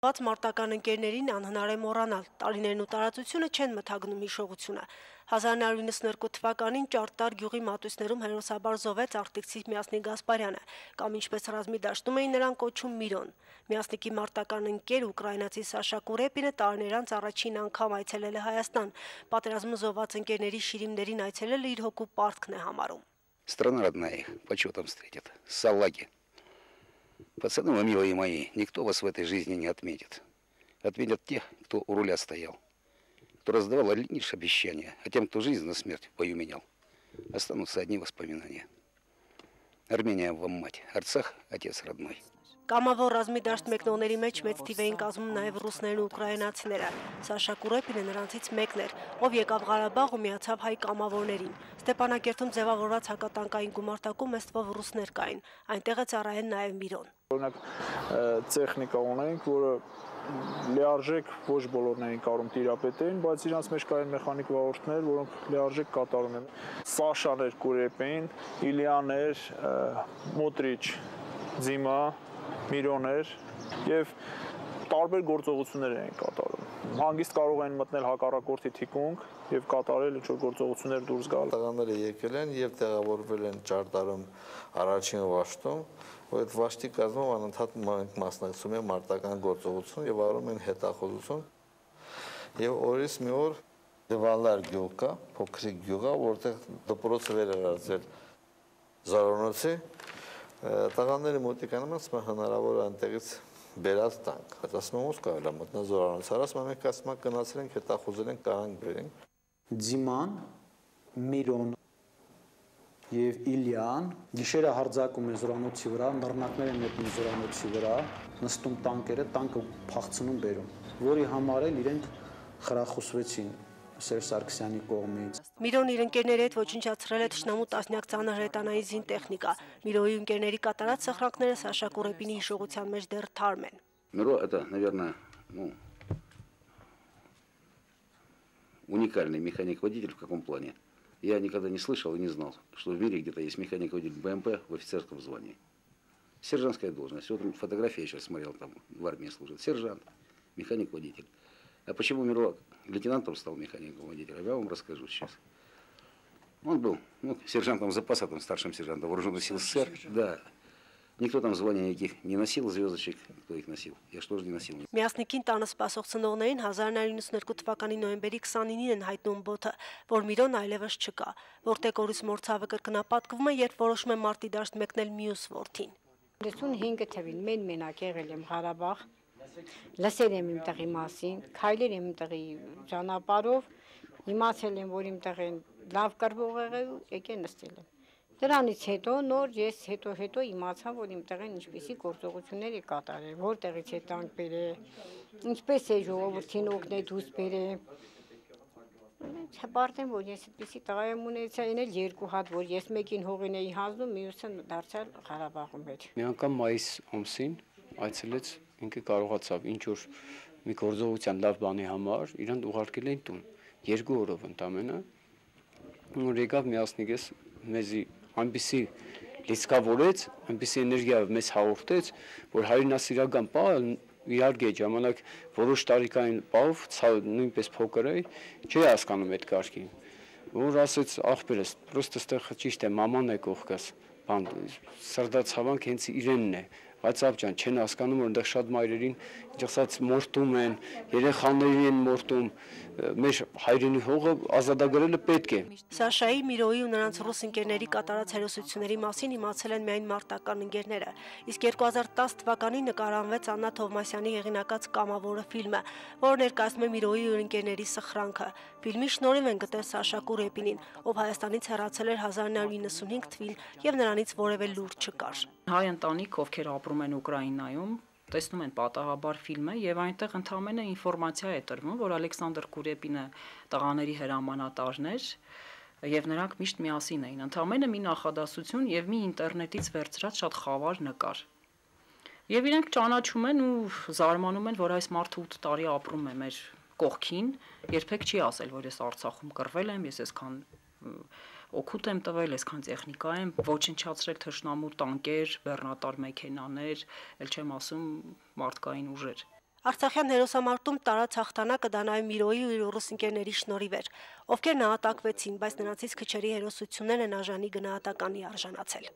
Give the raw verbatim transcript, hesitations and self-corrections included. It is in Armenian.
Ված մարտական ընկերներին անհնար է մոռանալ, տարիներն ու տարածությունը չեն մթագնում հիշողությունը։ հազար նոյ հարյուր իննսունհինգ թվականին Ճարտար գյուղի մատույցներում հերոսաբար զոհվեց արտիքցի Միասնիկ Գասպարյանը, կամ ինչպես ռազմի դաշտում էին նրան կոչում Միրոն։ Միասնիկի մարտական ընկեր ուկրաինացի Սաշա Կուրեպինը տարիներ անց առաջին անգամ այցելել է Հայաստան, պատերազմում զոհված ընկերների շիրիմներին այցելելը իր հոգու պարտքն է համարում։ Страна родная их почетом встретит, салаги. Пацаны вы, милые мои, никто вас в этой жизни не отметит. Отметят тех, кто у руля стоял, кто раздавал лишь обещания, а тем, кто жизнь на смерть в бою менял, останутся одни воспоминания. Армения вам мать, Арцах отец родной. Կամավոր ռազմի դաշտ մեկնողների մեջ մեծ թիվ էին կազմում նաև ռուսներն ու ուկրաինացիները։ Սաշա Կուրեպինը նրանցից մեկն էր, ով եկավ Ղարաբաղ ու միացավ հայ կամավորներին։ Ստեփանակերտում ձևավորված հակատանկային գումարտակում ըստվով ռուսներ կային, այնտեղ է ծառայել նաև Միրոն։ Օրինակ տեխնիկա ունենք, որը լիարժեք ոչ բոլորն էին կարում տիրապետեն, բայց իրանց մեջ կային մեխանիկ վարորդներ, որոնք լիարժեք կատարում են։ Սաշաներ Կուրեպին, Իլյաներ, Մոտրիչ, Ձիմա, Միրոներ եւ տարբեր գործողություններ են կատարում։ Հանգիստ կարող են մտնել հակառակորդի թիկունք եւ կատարել ինչ-որ գործողություններ դուրս գալ։ Տղաները եկել են եւ տեղավորվել են Ճարտարում առաջին վաշտում, որ այդ վաշտի կազմում անընդհատ մասնակցում են մարտական գործողություն եւ արում են հետախուզություն։ Եվ օրից մի օր Դվալար գյուղ կա, փոքրիկ գյուղ է, որտեղ դպրոցը վերարարել Զարոնոցի տղաները մոտիկանում են, ասում հնարավոր է այնտեղից բերած տանք։ Ասում եմ ո՞ւս կարելի է մտնալ Զորանոց։ Ասում եմ մենք ասում ենք գնացել ենք հետախուզել ենք կարանք բերենք։ Ձիման, Միրոն եւ Իլյան գիշերը հարձակում են Զորանոցի վրա, նռնակներ են մտնում Զորանոցի վրա, նստում տանկերը, տանկը փախցնում բերում, որի համար էլ իրենք խրախուսվեցին Սերժ Սարգսյանի կողմից։ Միրոն իր ընկերների հետ ոչնչացրել է թշնամու տասնյակ ծանր հրետանային զին տեխնիկա։ Միրոյի ընկերների կատարած սխրանքները Սաշա Կուրեպինի հիշողության մեջ դեռ թարմ են։ Миро это, наверное, ну, уникальный механик-водитель в каком плане. Я никогда не слышал и не знал, что в мире где-то есть механик-водитель БМП в офицерском звании. Сержантская должность. Вот фотография я сейчас смотрел, там в армии служит. Сержант, механик-водитель. А почему Миро лейтенантом стал механиком-водителем, я вам расскажу сейчас. Он был ну, сержантом запаса, там, старшим сержантом вооруженных сил СССР. Да. Никто там звания никаких не носил, звездочек, кто их носил. Я что же не носил. Միասնիկին տանը սպասող ծնողներին հազար նոյ հարյուր իննսունհինգ թվականի նոյեմբերի քսանինին են հայտնում բոթը, որ Միրոն այլևս չկա, որտեղ օրից մորցավը կրկնապատկվում է, երբ որոշում է մարտի դաշտ մեկնել մյուս որդին։ հինգ թվին մեն մենակ եղել եմ Ղարաբաղ, լսել եմ իմ տեղի մասին, քայլել եմ իմ տեղի ճանապարհով, իմացել եմ, որ իմ տեղին լավ կրվող եղել, եկել նստել եմ։ Դրանից հետո նոր ես հետո հետո իմացա, որ իմ տեղին ինչպիսի գործողություններ է կատարել, որտեղից է տանկ բերել, ինչպես է ժողովրդին օգնել դուրս բերել։ Չպարտեմ, որ ես այդպիսի տղա եմ ունեցա, այն էլ երկու հատ, որ ես մեկին հողին էի հանձնում, մյուսը դարձյալ Ղարաբաղում էր։ Մի անգամ մայիս ամսին այցելեց, ինքը կարողացավ ինչ որ մի գործողության լավ բանի համար իրան ուղարկել են տուն, երկու օրով ընդամենը։ Որ եկավ միասնիկես մեզի այնպիսի լիցքավորեց, այնպիսի էներգիայով մեզ հաղորդեց, որ հայրենասիրական պահը իհարկե ժամանակ որոշ տարիքային պահով նույնպես փոքր էի, չի հասկանում այդ կարգին, որ ասեց ախպերս, պրոստը ստեղ ճիշտ է, մաման է կողքս, բան սրդացավանք հենց իրենն է, բայց ափջան չեն հասկանում, որ այնտեղ շատ մայրերին ինչքան մորտում են, երեխաներին են մորտում, մեր հայրենի հողը ազատագրելը պետք է։ Սաշայի, Միրոյի ու նրանց ռուս ընկերների կատարած հերոսությունների մասին իմացել են միայն մարտական ընկերները, իսկ երկու հազար տասը թվականին նկարահանվեց Աննա Թովմասյանի հեղինակած Կամավորը ֆիլմը, որը ներկայացնում է Միրոյի ու ընկերների սխրանքը։ Ֆիլմի շնորհիվ են գտել Սաշա Կուրեպինին, ով Հայաստանից հեռացել էր հազար նոյ հարյուր իննսունհինգ թվին եւ նրանից որևէ լուր չկար։ Հայ ընտանիք, ովքեր ապրում են Ուկրաինայում, տեսնում են պատահաբար ֆիլմը եւ այնտեղ ընդհանրապես ինֆորմացիա է տրվում, որ Ալեքսանդր Կուրեպինը տղաների հրամանատարն էր եւ նրանք միշտ միասին էին։ Ընդհանրապես մի նախադասություն եւ մի ինտերնետից վերցրած շատ խավար նկար։ Եվ իրենք ճանաչում են ու զարմանում են, որ այս մարդը ութ տարի ապրում է մեր կողքին, երբեք չի ասել, որ ես Արցախում կռվել եմ, ես այսքան օգուտ եմ տվել, այսքան տեխնիկա եմ, ոչնչացրել թշնամու տանկեր, բեռնատար մեքենաներ, ել չեմ ասում մարդկային ուժեր։ Արցախյան հերոսամարտում տարած հաղթանակը դա նաև Միրոյի ու իր ռուս ընկերների շնորհիվ էր, ովքեր նահատակվեցին, բայց նրանցից քչերի հերոսություններն են արժանի գնահատականի արժանացել։